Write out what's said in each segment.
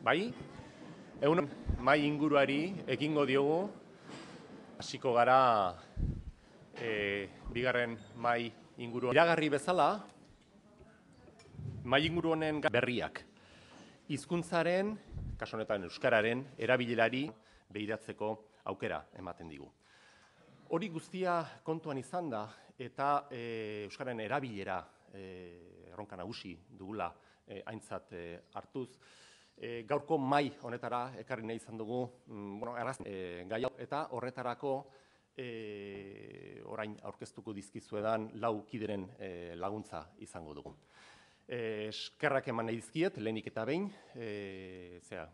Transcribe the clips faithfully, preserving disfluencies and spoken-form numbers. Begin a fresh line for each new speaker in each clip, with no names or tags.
Bai, egun mai inguruari ekingo diogu, hasiko gara e, bigarren mai inguru. Iragarri bezala, mai inguru honen berriak. Hizkuntzaren, kasu honetan euskararen, erabilerari begiratzeko aukera ematen digu. Hori guztia kontuan izan da, eta e, euskararen erabilera e, erronka nagusi dugula e, aintzat e, hartuz, E, gaurko mai honetara ekarri nahi izan dugu mm, bueno, e, gai hau, eta horretarako e, orain aurkeztuko dizkizuedan lau kideren e, laguntza izango dugu. E, eskerrak eman nahi dizkiet, lehenik eta behin, e, zera,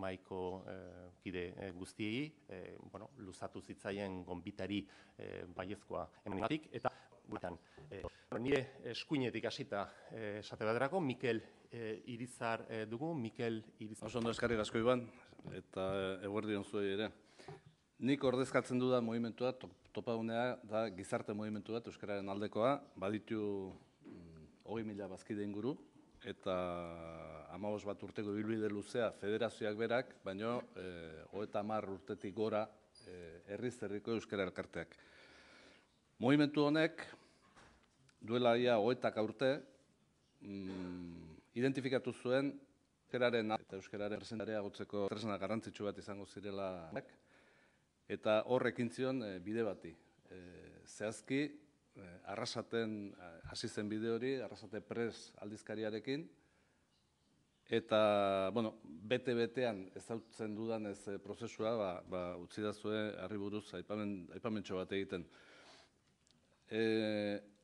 maiko e, kide e, guztiei, e, bueno, luzatu zitzaien gonbitari e, baiezkoa emangatik, eta guretan, e, nire eskuinetik hasita e, esate baterako, Mikel e, Irizar e, dugu, Mikel Irizar.
Oso ondo eskarrik asko Iban, eta eguerdion zuei ere. Nik ordezkatzen dudan mugimentua, topagunea da gizarte mugimentu bat, euskararen aldekoa, baditu hogei mila bazkide inguru, eta hamabost bat urteko ibilbide luzea federazioak berak, baino hogeita hamar urtetik gora herriz herriko euskara elkarteak. Mugimentu honek, duela ia hogeita urte, identifikatu zuen euskararen eta euskararen presentarea gotzeko tresna garrantzitsu bat izango zirela, eta horrekin zion bide bati. Zehazki, Arrasaten hasi zen bide hori, Arrasate Press aldizkariarekin, eta, bueno, bete-betean ezautzen dudan ez prozesua, ba, ba, utzi da zuen harri buruz aipamentxo bat egiten. E,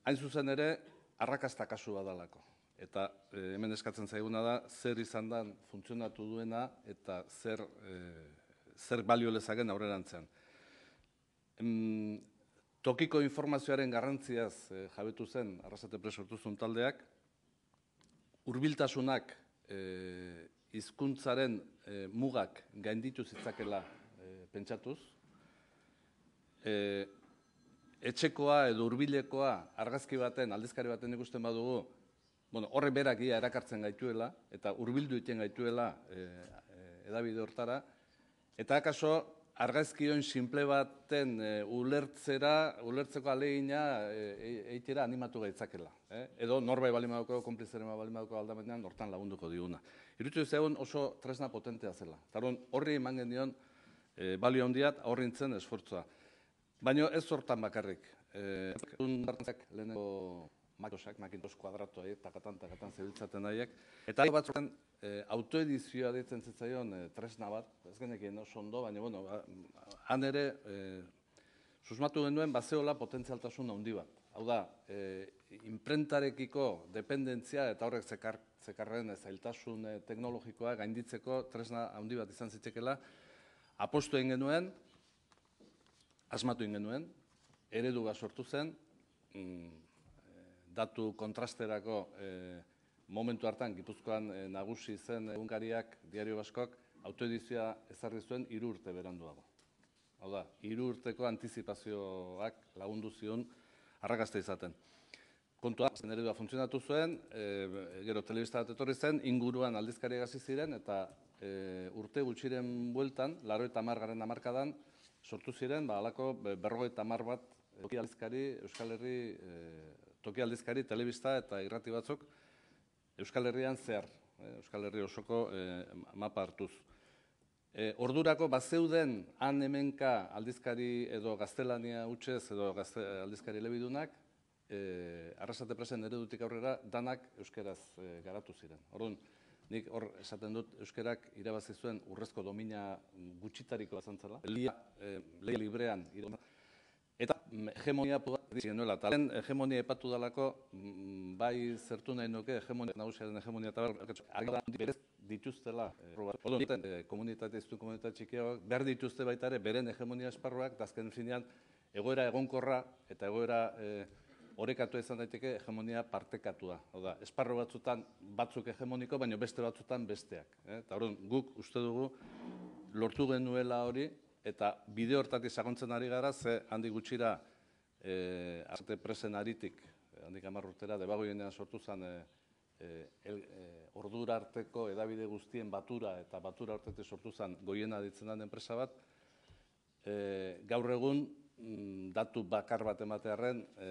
hain zuzen ere, arrakasta kasu badalako. Eta e, hemen eskatzen zaiguna da, zer izan da funtzionatu duena eta zer, e, zer balio lezaken aurrerantzean. Em, Tokiko informazioaren garrantziaz e, jabetu zen Arrasate Press sortu zuen taldeak, hurbiltasunak e, hizkuntzaren e, mugak gainditu zitzakela e, pentsatuz, e, etxekoa edo hurbilekoa argazki baten, aldizkari baten ikusten badugu, bueno, horre berak ia erakartzen gaituela, eta hurbildu egiten gaituela e, e, edabide hortara, eta akaso argazkion simple baten e, ulertzera, ulertzeko alegina eitera animatu gaitzakela. Eh? Edo norbait balimadoko, konplizeren balimadoko aldamenean, hortan lagunduko diguna. Irutsu zegoen oso tresna potentea zela. Taron horri eman genion e, balio handiat aurrintzen esfortzua. Baina ez hortan bakarrik. E, lehenengo Macintoshak, Macintosh kuadratua, takatan, takatan zebiltzaten daiek. Eta batzuetan e, autoedizioa deitzen zitzaion e, tresna bat, ez genekien oso ondo, baina, bueno, ba, han ere e, susmatu genuen bazeola potentzialtasun handi bat. Hau da, e, imprentarekiko dependentzia eta horrek zekar, zekarren zailtasun e, teknologikoa gainditzeko tresna handi bat izan zitekela, apostu egin genuen, asmatu egin genuen, eredu bat sortu zen, mm, datu kontrasterako e, momentu hartan, Gipuzkoan e, nagusi zen egunkariak, Diario Baskok, autoedizioa ezarri zuen hiru urte beranduago. Hau da, hiru urteko antizipazioak lagundu zion arrakasta izaten. Kontua, zen eredua funtzionatu zuen, e, gero telebista bat etorri zen, inguruan aldizkariak hasi ziren, eta e, urte gutxiren bueltan, laurogeita hamar garren hamarkadan, sortu ziren, ba, halako berrogeita hamar bat toki aldizkari, Euskal Herri, e, toki aldizkari, telebista eta irrati batzuk Euskal Herrian zehar, eh, Euskal Herri osoko eh, mapa hartuz. E, ordurako bazeuden han hemenka aldizkari edo gaztelania hutsez edo gazte, aldizkari elebidunak, e, Arrasate Pressen eredutik aurrera danak euskeraz e, garatu ziren. Orduan, nik hor esaten dut euskerak irabazi zuen urrezko domina gutxitariko bazantzala. Leia e, librean irabazi. Eta hegemonia genuela, eta lehen hegemonia epatu dalako, bai zertu nahi nuke hegemonia, nagusiaren hegemonia eta berez dituztela. Komunitate, iztu komunitate txikiagoak, behar dituzte baita ere, beren hegemonia esparruak, eta azken finean, egoera egonkorra eta egoera orekatua izan daiteke hegemonia partekatua. Hau da, esparru batzutan batzuk hegemoniko, baina beste batzutan besteak. Eta hori guk uste dugu lortu genuela hori, eta bide hortatik sakontzen ari gara, ze handik gutxira Arrasate Pressen aritik, handik hamar urtera, debagoienean sortu zen e, el, e, ordura arteko edabide guztien batura eta batura artetik sortu zen goiena ditzen den enpresa bat, e, gaur egun mm, datu bakar bat ematearren e,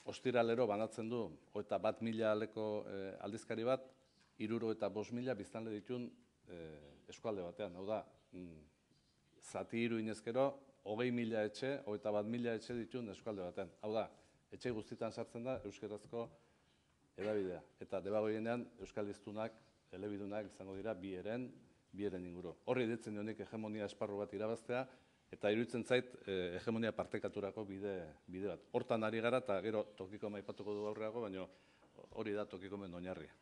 ostiralero banatzen du hogeita bat mila aleko e, aldizkari bat, hiruro eta bost mila biztanle ditun e, eskualde batean. Hau da, mm, zati hiru inezkero, hogei mila etxe, hogeita bat mila etxe ditun eskualde batean. Hau da, etxe guztietan sartzen da euskerazko edabidea. Eta debagoienean euskal hiztunak, elebidunak izango dira bi eren, bi eren inguru. Horri ditzen dionik hegemonia esparru bat irabaztea, eta iruditzen zait eh, hegemonia partekaturako bide, bide bat. Hortan ari gara eta gero tokiko maipatuko du aurreago, baina hori da tokiko men oinarria.